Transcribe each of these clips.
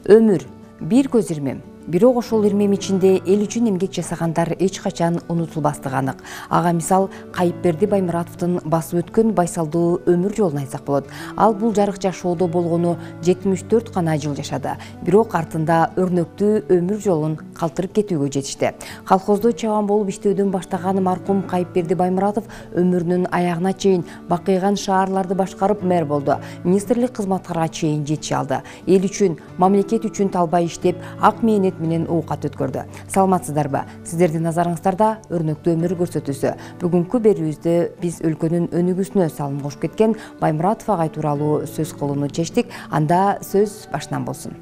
Өмүр бир көз ирмем. Бирок ошол ирмем ичинде эл үчүн эмгек жасагандар эч качан унутулбастыгы анык. Ага мисал Кайыпберди Баймуратовдун басып өткөн байсалдуу өмүр жолун айтсак болот. Ал бул жарык жашоодо болгону 74 гана жыл жашады. Бирок артында өрнөктүү өмүр жолун калтырып кетүүгө жетишти. Колхоздо чабан болуп иштөөдөн баштаган маркум Кайыпберди Баймуратов өмүрүнүн аягына чейин бакыйган шаарларды башкарып мэр болду. Министрлик кызматтарга чейин жетиши алды. Эл үчүн, мамлекет үчүн талбай иштеп, ак мээнет менен оокат өткөрдү. Саламатсыздарбы? Сиздердин назарыңыздарда өрнөктүү өмүр көрсөтүүсү. Бүгүнкү берүүбүздө биз өлкөнүн өнүгүүсүнө салым кошуп кеткен Баймуратов агай тууралуу сөз кылууну чечтик. Анда сөз башынан болсун.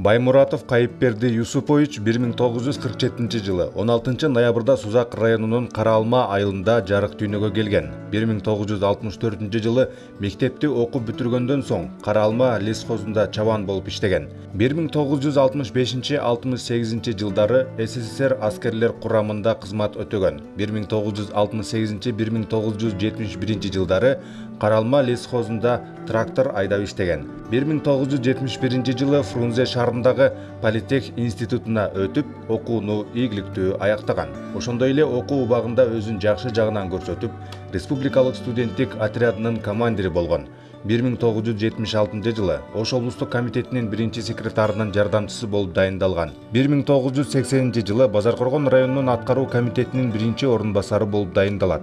Баймуратов Кайыпберди Юсупович 1947 жылы 16 ноябрда Сузак районунун Кара-Алма айылында жарык дүйнөгө келген. 1964 жылы мектепти окуп бүтүргөндөн соң Кара-Алма лесхозунда чабан болуп иштеген. 1965-68 жылдары СССР аскерлер курамында кызмат өтөгөн. 1968-1971 жылдары Кара-Алма лесхозунда трактор айдап иштеген. 1971 жылы Фрунзе шаарындагы Политех институтуна өтүп, окууну ийгиликтүү аяктаган. Ошондой эле окуу убагында өзүн жакшы жагынан көрсөтүп, республикалык студенттик отрядынын командири болгон. 1976 жылы Ош облустук комитетинин биринчи секретарынын жардамчысы болуп дайындалган. 1980 жылы Базаркоргон районунун аткаруу комитетинин биринчи орун басары болуп дайындалат.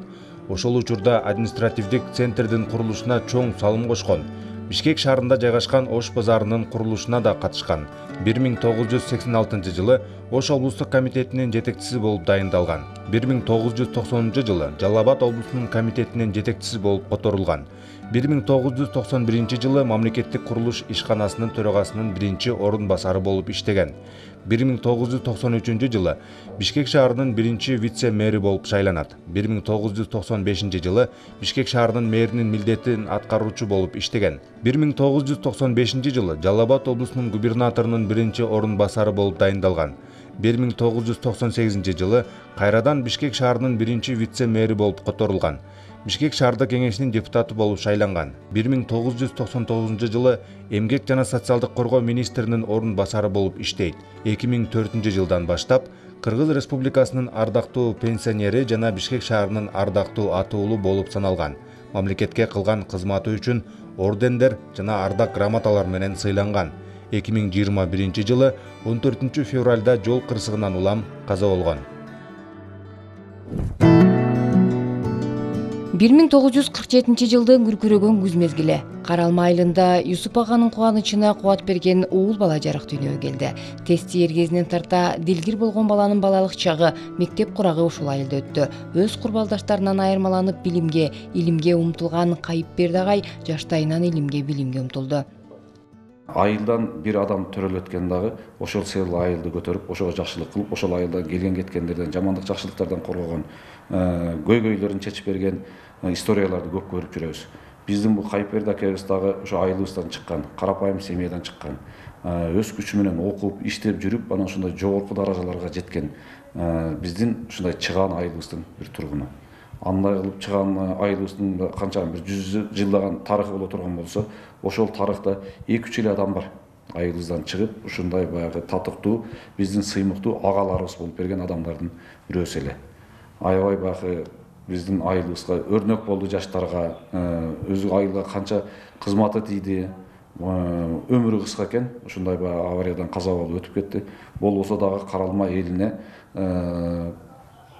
Ошол учурда административдик центрдин курулушуна чоң салым кошкон. Бишкек шаарында жайгашкан Ош базарынын курулушуна да катышкан. 1986 жылы Ош облустук комитетинин жетекчиси болуп дайындалган. 1990 жылы Жалал Абад облусунун комитетинин жетекчиси болуп которулган. 1991 жылы мамлекеттик курулуш ишканасынын төрагасынын биринчи орун басары болуп иштеген. 1993 жылы Бишкек шаарынын биринчи вице-мэри болуп шайланат. 1995 жылы Бишкек шаарынын мэринин милдетин аткаруучу болуп иштеген. 1995 жылы Жалал Абад облусунун губернаторунун биринчи орун басары болуп дайындалган. 1998 жылы кайрадан Бишкек шаарынын биринчи вице-мэри болуп которулган. Бишкек шаардык кеңешинин депутаты болуп шайланган. 1999 жылы эмгек жана социалдык коргоо министринин орун басары болуп иштейт. 2004 жылдан баштап Кыргыз Республикасынын ардактуу пенсионери жана Бишкек шаарынын ардактуу аты уулу болуп саналган. Мамлекетке кылган кызматы үчүн ордендер жана ардак грамоталар менен сыйланган. 2021 жылы 14 февралда жол кырсыгынан улам каза болгон. 1947 жылдын күркүрөгөн күз мезгили Кара-Алма айылында Юсуп аганын кубанычына кубат берген уул бала жарык дүйнөгө келди. Тести эргезинен тарта дилгир болгон баланын балалык чагы, мектеп курагы ушул айылда өттү. Өз курбалдаштарынан айырмаланып билимге, илимге умтулган Кайыпберди агай жаштайынан илимге, билимге умтулду. Айылдан бир адам төрөлөткөн дагы ошол сыйлы айылды көтөрүп, ошого жакшылык кылып, ошол айылдан келген кеткендерден, жамандык жакшылыктардан коргогон, көйгөйлөрүн чечип берген историяларды көп көрүп жүрөбүз. Биздин бул Кайыпберди акебиз дагы ошо айылыбыздан чыккан, карапайым семьядан чыккан, өз күчү менен окуп, иштеп жүрүп, анан ошондой жогорку даражаларга жеткен биздин ушундай чыгаан айылыбыздын бир тургуну. Андай кылып чыган айылыбыздын канча бир 100 жылдаган тарыхы боло турган болсо, ошол тарыхта 2-3 эле адам бар. Айылыбыздан чыгып, ушундай баягы татыктуу, биздин сыймыктуу агаларыбыз болуп берген адамдардын бирөөсү эле. Аябай баягы биздин айылыбызга өрнөк болду жаштарга, өзү айылга канча кызматы тийди. Өмүрү кыска экен, ушундай баягы авариядан каза болуп өтүп кетти. Болбосо дагы Кара-Алма элине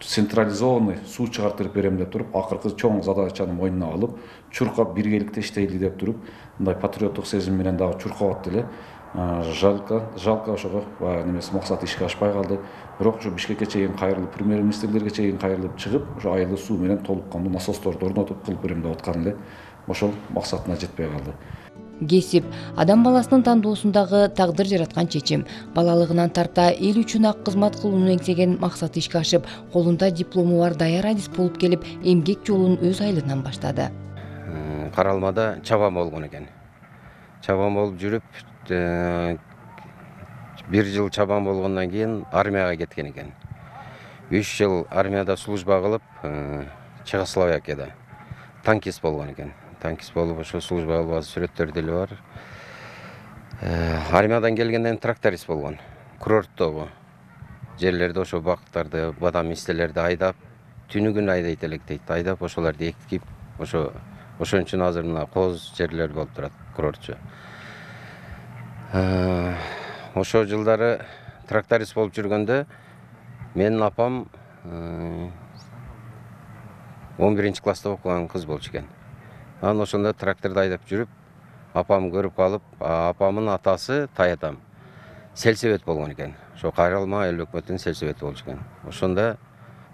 централизованный суу чыгартырып берем деп туруп, акыркы чоң задачаны мойнуна алып, чуркап биргеликте иштейли деп туруп, мындай патриоттук сезим менен дагы чуркап атты эле. Жалко ошого немеси максаты ишке ашпай калды. Бирок ушу Бишкекке чейин кайрылып, премьер-министрлерге чейин кайрылып чыгып, ушу айылды суу менен толуккандуу насосторду орнотуп кылып берем деп аткан эле. Ошол максатына жетпей калды. Кесип адам баласынын тандоосундагы тагдыр жараткан чечим. Балалыгынан тарта эл үчүн ак кызмат кылууну эңсеген максаты ишке ашып, колунда диплому бар даяр адис болуп келип, эмгек жолун өз айылынан баштады. Кара-Алмада чабан болгон экен. Чабан болуп жүрүп, 1 жыл чабан болгондон кийин армияга кеткен экен. 3 жыл армияда служба кылып, Чехословакияда танкист болгон экен. Танкист болуп, ошо служба кылган сүрөттөр деле бар. Армиядан келгенден тракторист болгон. Курорттогу жерлерде ошо бактарды, бадам истелерди айдап, түнү күн айдайт элек дейт. Айдап ошолорду экип, ошон үчүн азыр мына кооз жерлер болуп турат курортчу. Ошол жылдары тракторист болуп жүргөндө менин апам 11 класста окуган кыз болчу экен. Анан ошондо тракторду айдап жүрүп, апам көрүп калып, апамдын атасы таятам сельсовет болгон экен. Ошо Кайралма эл өкмөтүнүн сельсовети болчу экен. Ошондо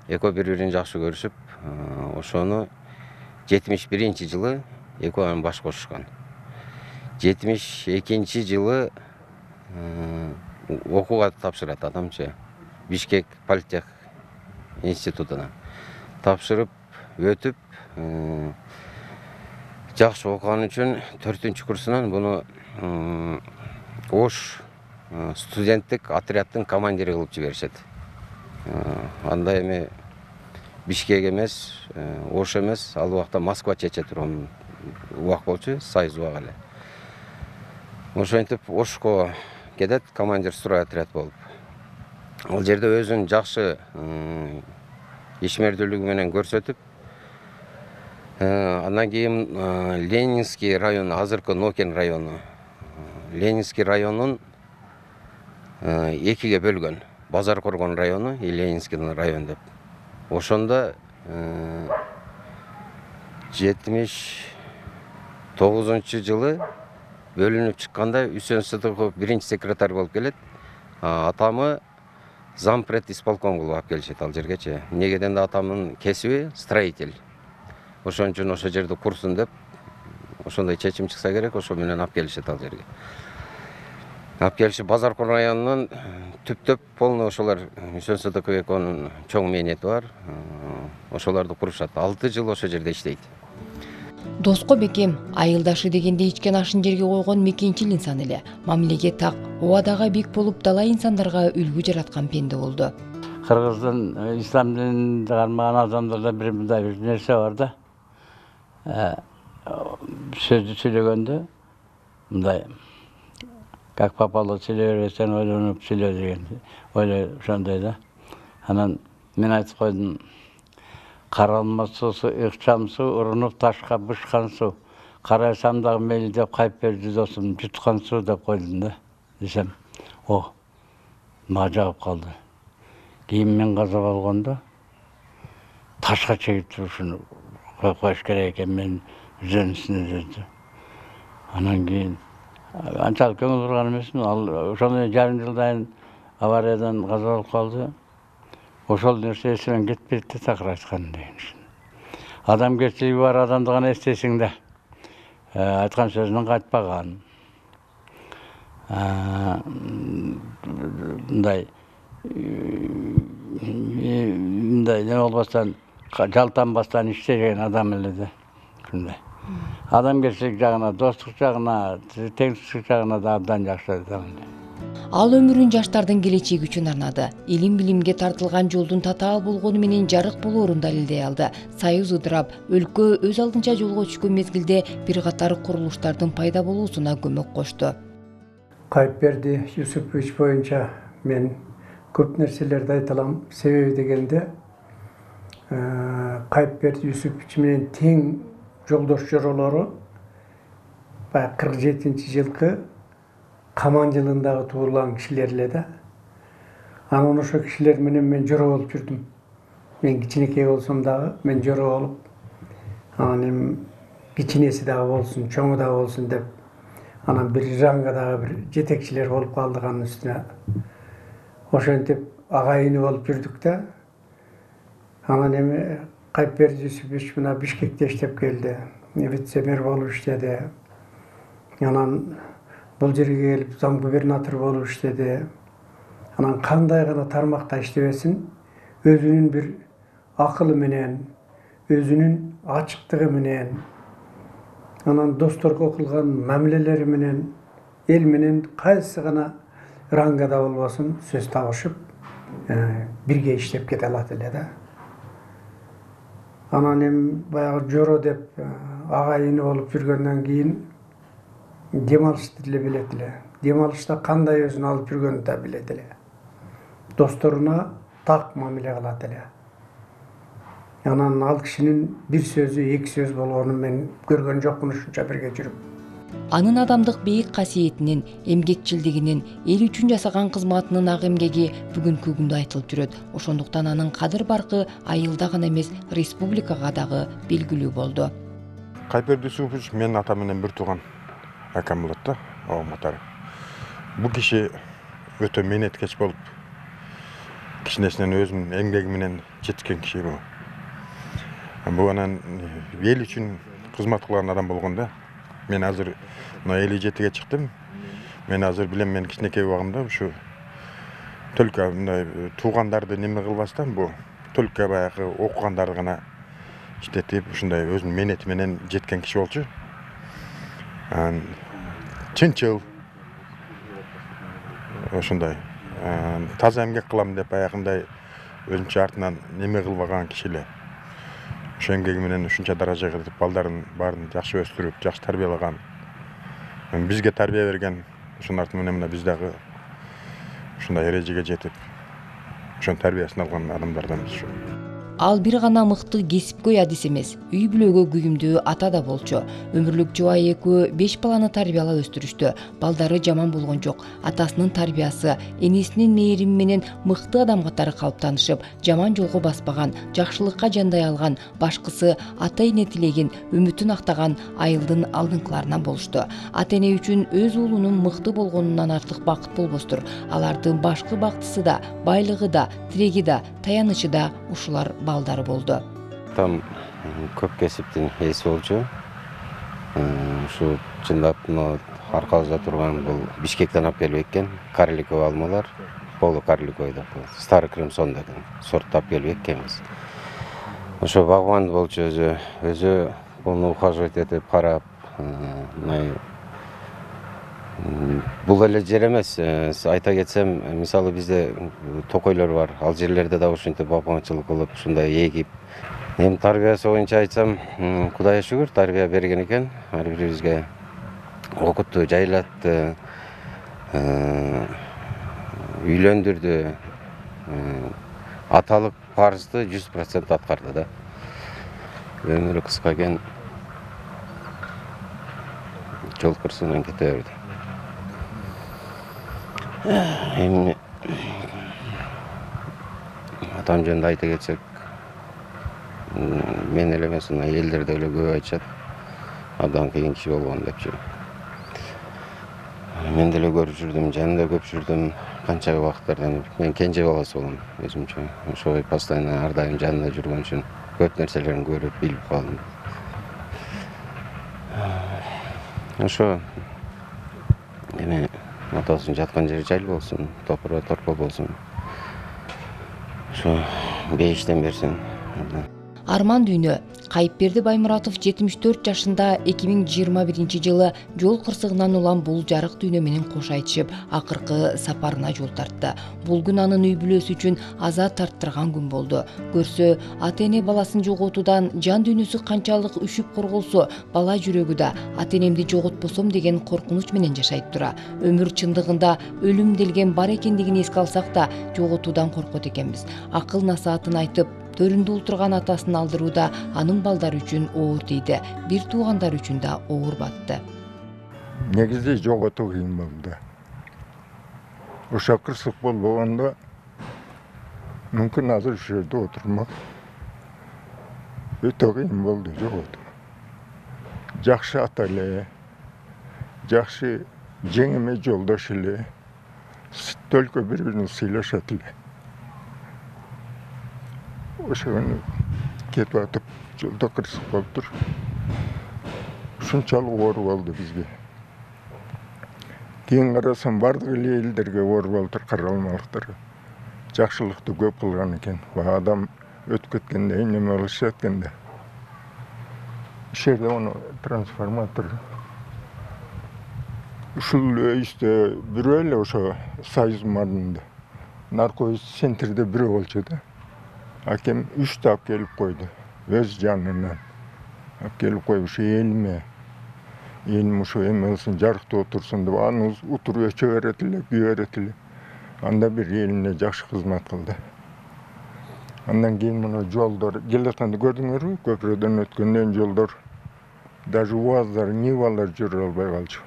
экөө бири-бирин жакшы көрүшүп, ошону 71-жылы экөө баш кошушкан. 72 жылы окууга тапшырат адамчы. Бишкек политех институтуна тапшырып өтүп, жакшы окуган үчүн 4-курсунан буну Ош студенттик отряддын командири кылып жиберишет. Анда эми Бишкек эмес, Ош эмес, ал убакта Москва чече турган убак болчу, союз убак эле. Ошентип Ошко кетет командир строй отряд болуп. Ал жерде өзүн жакшы ишмердүүлүгү менен көрсөтүп, андан кийин Ленинский район, азыркы Нокен району, Ленинский районун экиге бөлгөн. Базар Коргон району и Ленинский район деп. Ошондо 79-жылы бөлүнүп чыкканда Үсөн Сыдыков биринчи секретарь болуп келет. Атамы зампред исполком кылып алып келишет ал жергечи. Негеден да атамдын кесиби строитель. Ошон үчүн ошол жерди курсун деп, ошондой чечим чыкса керек, ошо менен алып келишет ал жерге. Алып келишип Базар Коргон районунун түптөп полный ошолор Үсөн Сыдыков экөөнүн чоң мээнети бар. Ошолорду курушат. 6 жыл ошол жерде иштейт. Доско бекем, айылдашы дегенде ичкен ашын жерге койгон мекенчил инсан эле. Мамилеге так, убадага бик болуп талай инсандарга үлгү жараткан пенде болду. Кыргыздын ислам динин кармаган адамдарда бир мындай бир нерсе бар да. Сөздү сүйлөгөндө мындай как попало сүйлөй бербесең ойлонуп сүйлө деген ойлой ошондой да. Анан мен айтып койдум, каралма суусу ыкчам суу, урунуп ташка бышкан суу, карасам дагы мейли деп кайып берди досум, жуткан суу деп койдум да. Десем, мага жагып калды. Кийин мен каза болгондо ташка чегип турушун коюш керек экен, мен үзөнүсүнө жүрдү. Анан кийин анчалык көңүл бурган эмесмин. Ал ошондой жарым жылдан авариядан каза болуп калды. Ошол нерсе эсимен кетпейт да, такыр айткан деген. Адамгерчилиги бар адамды гана эстейсиң да. Айткан сөзүнөн кайтпаган. Мындай не болбостон, жалтанбастан иштеген адам эле да. Ушундай. Адамгерчилик жагына, достук жагына, теңсиздик жагына да абдан жакшы адам эле. Ал өмүрүн жаштардын келечеги үчүн арнады. Илим-билимге тартылган жолдун татаал болгону менен жарык болоорун далилдей алды. Союз ыдырап, өлкө өз алдынча жолго түшкөн мезгилде бир катар курулуштардын пайда болуусуна көмөк кошту. Кайыпберди Юсупович боюнча мен көп нерселерди айта алам. Себеби дегенде Кайыпберди Юсупович менен тең жолдош жоролору 47-жылкы Каман жылындагы туулган кишилер эле да. Анан ошо кишилер менен мен жора болуп жүрдүм. Мен кичинекей болсом дагы мен жора болуп, анан эми кичинеси дагы болсун, чоңу дагы болсун деп, анан бир рангадагы бир жетекчилер болуп калдык анын үстүнө. Ошентип агайыны болуп жүрдүк да. Анан эми Кайыпберди Юсупович мына Бишкекте иштеп келди. Вице-мэр болуп иштеди. Анан бул жерге келип зам-губернатор болуп иштеди. Анан кандай гана тармакта иштебесин, өзүнүн бир акылы менен, өзүнүн ачыктыгы менен, анан досторго кылган мамилелери менен, эл менен кайсы гана рангада болбосун сөз табышып, бирге иштеп кете алат эле да. Анан эми баягы жоро деп агайыны болуп жүргөндөн кийин дем алышты деле билет эле. Дем алышта кандай өзүн алып жүргөнүн да билет эле. Досторуна так мамиле кылат эле. Анан ал кишинин бир сөзү эки сөз болгонун мен көргөн жокмун ушунча бирге жүрүп. Анын адамдык бийик касиетинин, эмгекчилдигинин, эл үчүн жасаган кызматынын ак эмгеги бүгүнкү күндө айтылып жүрөт. Ошондуктан анын кадыр баркы айылда гана эмес, республикага дагы белгилүү болду. Кайперди Супович менин атам менен бир тууган акам болот да, абам катары. Бул киши өтө мээнеткеч болуп, кичинесинен өзүнүн эмгеги менен жетишкен киши бул. Бул анан эл үчүн кызмат кылган адам болгон да. Мен азыр 57-ге чыктым. Мен азыр билем, мен кичинекей убагымда ушу только мындай туугандарды неме кылбастан бул только баягы окугандарды гана иштетип, ушундай өзүнүн мээнети менен жеткен киши болчу. Чынчыл ошондой таза эмгек кылам деп баягындай өзүнчө артынан неме кылбаган киши эле. Ошо эмгеги менен ушунча даражага жетип, балдарын баарын жакшы өстүрүп, жакшы тарбиялаган. Бизге тарбия берген, ошонун арты менен мына биз дагы ушундай эрежеге жетип, ошонун тарбиясын алган адамдарданбыз. Ал бир гана мыкты кесипкөй адис эмес, үй бүлөгө күйүмдүү ата да болчу. Өмүрлүк жубайы экөө 5 баланы тарбиялап өстүрүштү. Балдары жаман болгон жок. Атасынын тарбиясы, энесинин мээрими менен мыкты адам катары калыптанышып, жаман жолго баспаган, жакшылыкка жандай алган, башкысы ата-эне тилеген, үмүтүн актаган айылдын алдыңкыларынан болушту. Ата-эне үчүн өз уулунун мыкты болгонунан артык бакыт болбостур. Алардын башкы бактысы да, байлыгы да, тиреги да, таянычы да ушулар балдары болду. Там көп кесиптин ээси болчу. Ушу чындап аркабызда турган бул Бишкектен алып келип эккен карликовый алмалар, полу карликовый деп коет. Старый Кремсон деген сортту алып келип эккенбиз. Ошо багбан болчу өзү буну ухаживать этип карап, бул эле жер эмес. Айта кетсем, мисалы бизде токойлор бар. Ал жерлерде да ушинтип багбанчылык кылып, ушундай эгип. Эми тарбиясы боюнча айтсам, Кудайга шүгүр, тарбия берген экен. Ар бирибизге окутту, жайлатты, үйлөндүрдү. Аталык парызды 100% аткарды да. Өмүрү кыска экен. Жол кырсыгынан кете берди. Эми атам жөнүндө айта кетсек, мен эле эмес, элдерде эле көп айтышат, абдан кыйын киши болгон депчи. Мен деле көрүп жүрдүм, жанында көп жүрдүм, канча убакыттардан. Мен кенже баласы болом өзүмчө. Ошой постоянно ар дайым жанында жүргөн үчүн көп нерселерин көрүп, билип калдым. Ошо эми атасынын жаткан жери жайлы болсун, топура торпо болсун. Ошо бейиштен берсин. Арман дүйнө. Кайыпберди Баймуратов 74 жашында 2021 жылы жол кырсыгынан улам бул жарык дүйнө менен кош айтышып, акыркы сапарына жол тартты. Бул күн анын үй бүлөсү үчүн азат тарттырган күн болду. Көрсө, ата-эне баласын жоготуудан жан дүйнөсү канчалык үшүп корголсо, бала жүрөгү да ата-энемди жоготпосом деген коркунуч менен жашайт тура. Өмүр чындыгында өлүм делген бар экендигин эске алсак да, жоготуудан коркот экенбиз. Акыл насаатын айтып, төрүндө олтурган атасын алдырууда анын балдары үчүн оор тийди. Бир туугандар үчүн да оор батты. Негизи жоготуу кыйын болду. Ошо кырсык болбогондо мүмкүн азыр ушул жерде отурмак. Өтө кыйын болду жоготуу. Жакшы ата эле, жакшы жеңеме жолдош эле, только бири-бирин сыйлашат эле. Ошону кетип атып, жолдо кырсык болуптур. Ушунчалык оор болду бизге. Кийин карасам, бардык эле элдерге оор болуптур, каралмалыктар. Жакшылыкты көп кылган экен. Адам өтүп кеткенде неме кылышат экенде. Иш жерде ону трансформатор. Ушул өйүстө бирөө эле ошо Союз мардында. Наркоз центрде бирөө болчу да. Акем 3 алып келип койду. Өз жанынан алып келип коюп, ушу элиме элим ушу эме кылсын, жарыктуу отурсун деп аны утур өчө берет эле, күйө берет эле. Анда бир элине жакшы кызмат кылды. Андан кийин мына жолдор келатканды көрдүңөрбү? Көпүрөдөн өткөндөн жолдор даже УАЗдар, Нивалар жүрө албай калчу.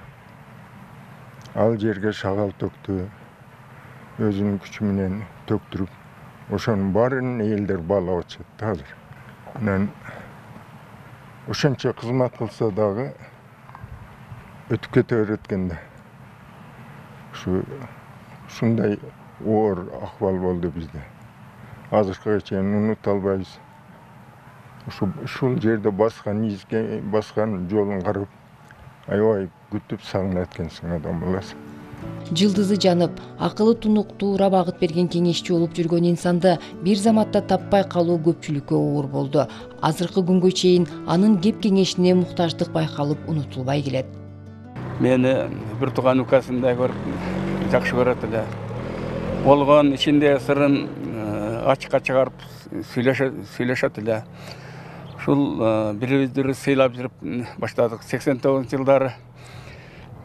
Ал жерге шагал төктү, өзүнүн күчү менен төктүрүп, ошонун баарын элдер баалап атышат азыр. Анан ошончо кызмат кылса дагы өтүп кете берет экен да. Ушундай оор акыбал болду бизде. Азыркыга чейин унута албайбыз. Ушул жерде баскан изге, баскан жолун карап, аябай күтүп сагынат экенсиң адам баласы. Жылдызы жанып, акылы тунук туура багыт берген кеңешчи болуп жүргөн инсанды бир заматта таппай калуу көпчүлүккө оор болду. Азыркы күнгө чейин анын кеп кеңешине муктаждык байкалып унутулбай келет. Мени бир тууган укасындай көрүп, жакшы көрөт эле. Болгон ичинде сырын ачыкка чыгарып сүйлөшөт эле. Ушул бири-бирибизди сыйлап жүрүп баштадык. 89-жылдары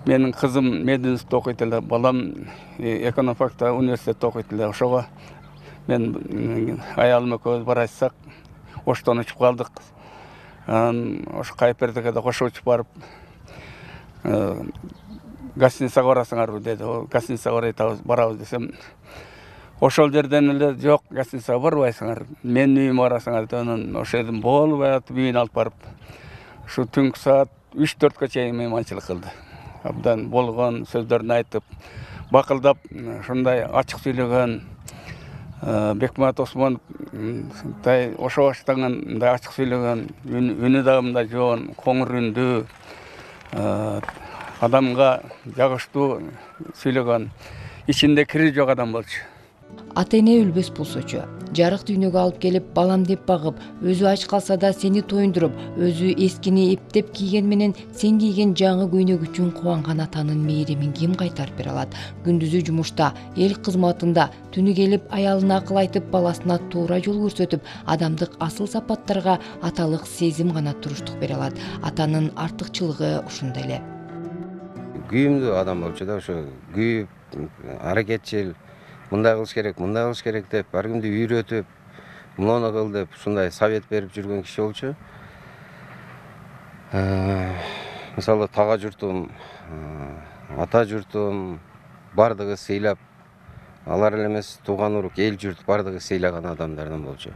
менин кызым мединститутта окуйт эле, балам экономфакта университетте окуйт эле. Ошого мен аялым экөөбүз бара жатсак, Оштон учуп калдык. Ошо Кайыпбердиге да кошо учуп барып, гостиницага барасыңарбы деди. Гостиницага барабыз десем, ошол жерден эле жок, гостиницага барбайсыңар, менин үйүмө барасыңар деп, анан ошол жерден болбой атып үйүнө алып барып, ушу түнкү саат 3-4кө чейин мейманчылык кылды. Абдан болгон сөздөрүн айтып, бакылдап, ушундай ачык сүйлөгөн, Бекмамат Осмоновдай ошо баштаган мындай ачык сүйлөгөн, үнү дагы мындай жоон, коңур үндүү, адамга жагыштуу сүйлөгөн, ичинде кири жок адам болчу. Ата-эне өлбөс болсочу, жарык дүйнөгө алып келип, балам деп багып, өзү ач калса да сени тоюндуруп, өзү эскини эптеп кийген менен сен кийген жаңы көйнөк үчүн кубанган атанын мээримин ким кайтарып бере алат? Күндүзү жумушта, эл кызматында, түнү келип аялына акыл айтып, баласына туура жол көрсөтүп, адамдык асыл сапаттарга аталык сезим гана туруштук бере алат. Атанын артыкчылыгы ушунда эле. Күйүмдүү адам болчу да, ошо күйүп, аракетчил, мындай кылыш керек деп, ар кимди үйрөтүп, муну кыл деп, ушундай совет берип жүргөн киши болчу. Мисалы, тага журтум, ата журтум бардыгы сыйлап, алар эле эмес, тууган урук, эл журт бардыгы сыйлаган адамдардан болчу.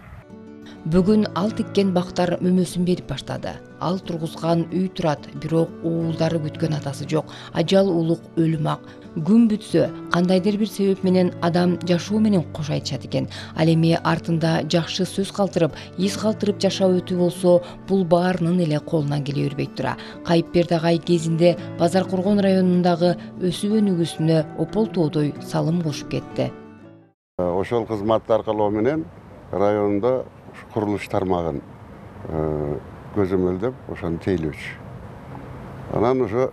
Бүгүн ал тиккен бактар мөмөсүн берип баштады. Ал тургузган үй турат, бирок уулдары күткөн атасы жок. Ажал улук өлүм ак. Күн бүтсө, кандайдыр бир себеп менен адам жашоо менен кош айтышат экен. Ал эми артында жакшы сөз калтырып, из калтырып жашоо өтүү болсо, бул баарынын эле колунан келе бербей тура. Кайыпберди агай кезинде Базар Коргон районундагы өсүп өнүгүүсүнө опол тоодой салым кошуп кетти. Ошол кызмат аркылуу менен райондо курулуш тармагын көзөмөлдөп, ошону тейлөөчү. Анан ошо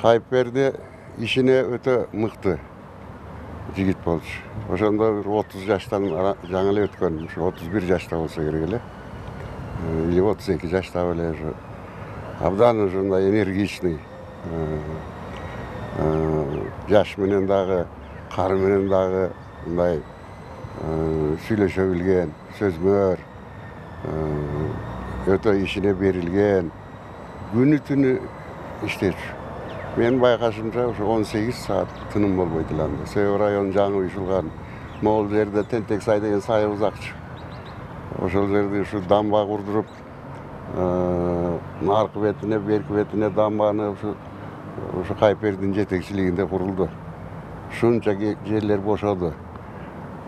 Кайыпберди ишине өтө мыкты жигит болчу. Ошондо 30 жаштан жаңы эле өткөн, ушу 31 жашта болсо керек эле. Или 32 жашта эле ушу. Абдан ушундай энергичный. Жаш менен дагы, кары менен дагы мындай сүйлөшө билген, сөзмөр, өтө ишине берилген, күнү түнү иштечү. Мен байкашымча ушу 18 саат тыным болбойт эле анда. Себеби район жаңы уюшулган. Могул жерде Тентек сай деген сай узакчы. Ошол жерде ушу дамба курдуруп, аркы бетине, берки бетине дамбаны ушу Кайыпбердинин жетекчилигинде курулду. Ушунча жерлер бошоду.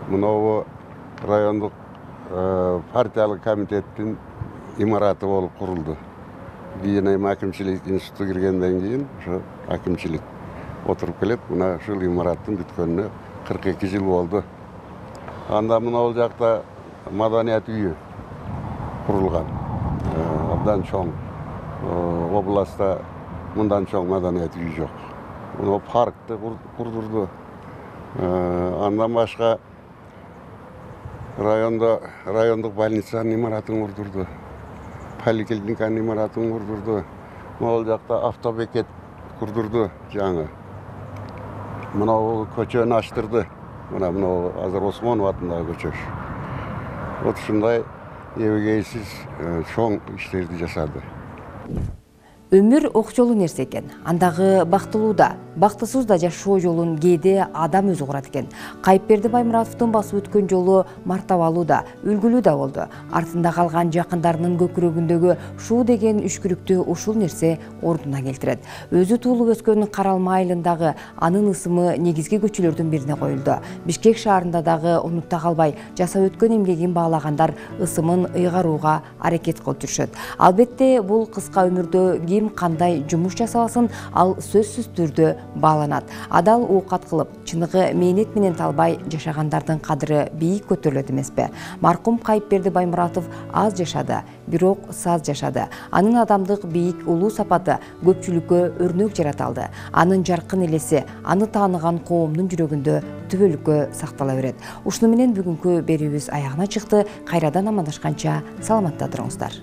Мынабу райондук партиялык комитеттин имараты болуп курулду. Кийин эми акимчилик институту киргенден кийин ошо акимчилик отуруп келет. Мына ушул имараттын бүткөнүнө 42 жыл болду. Анда мына жакта маданият үйү курулган. Абдан чоң. Областта мындан чоң маданият үйү жок. Мына паркты курдурду. Андан башка райондук больницанын имаратын курдурду. Поликлиниканын имаратын курдурду. Могул жакта автобекет курдурду жаңы. Мынау көчөнү аштырды. Мынау азыр Осмонов атындагы көчө. Вот ушундай эбегейсиз чоң иштерди жасады. Өмүр окчолуу нерсе экен. Андагы бактылуу да, бактысыз да жашоо жолун кээде адам өзү курат экен. Кайыпберди Баймуратовдун басып өткөн жолу мартабалуу да, үлгүлүү да болду. Артында калган жакындарынын көкүрөгүндөгү шуу деген үшкүрүктү ушул нерсе ордуна келтирет. Өзү туулуп өскөн Каралма айылындагы анын ысымы негизги көчөлөрдүн бирине коюлду. Бишкек шаарында дагы унутта калбай жасап өткөн эмгегин баалагандар ысымын ыйгарууга аракет кылып жүрүшөт. Албетте бул кыска өмүрдө ким кандай жумуш жасаласын, ал сөзсүз түрдө бааланат. Адал оокат кылып, чыныгы мээнет менен талбай жашагандардын кадыры бийик көтөрүлөт эмеспи? Маркум Кайыпберди Баймуратов аз жашады, бирок саз жашады. Анын адамдык бийик улуу сапаты көпчүлүккө өрнөк жарата алды. Анын жаркын элеси аны тааныган коомдун жүрөгүндө түбөлүккө сактала берет. Ушуну менен бүгүнкү берүүбүз аягына чыкты. Кайрадан амандашканча саламатта туруңуздар.